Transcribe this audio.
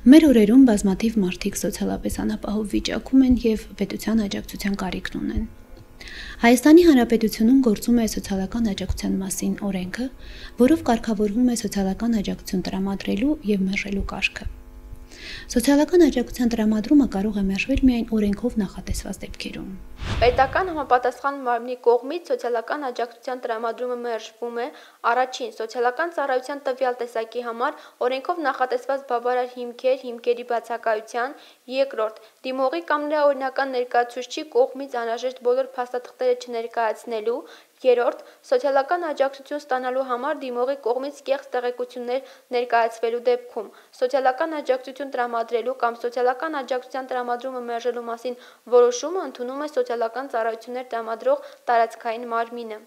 Մեր օրերում բազմաթիվ մարդիկ սոցիալապես անապահով վիճակում են և պետության աջակցության կարիք ունեն։ Հայաստանի Հանրապետությունում գործում է սոցիալական աջակցության մասին օրենքը, որով կարգավորվում է սոցիալական աջակցություն տրամադրելու և մերժելու կարգը։ Սոցիալական աջակցության տրամադրումը կարող է մերժվել միայն օրենքով նախատեսված դեպքերում։ Պետական համապատասխան մարմնի կողմից սոցիալական աջակցության տրամադրումը մերժվում է առաջին՝ սոցիալական ծառայության տվյալ տեսակի համար օրենքով նախատեսված բավարար հիմքերի բացակայության, երկրորդ՝ դիմողի կամ նրա օրինական ներկայացուցչի կողմից անհրաժեշտ բոլոր փաստաթղթերը չներկայացնելու, երրորդ՝ սոցիալական աջակցություն ստանալու համար դիմողի կողմից կեղծ տեղեկություններ ներկայացվելու դեպքում։ Սոցիալական աջակցություն տրամադրելու կամ սոցիալական աջակցության տրամադրումը մերժելու մասին որոշումը ընդունում է սոցիալական ծառայություններ տրամադրող տարածքային մարմինը։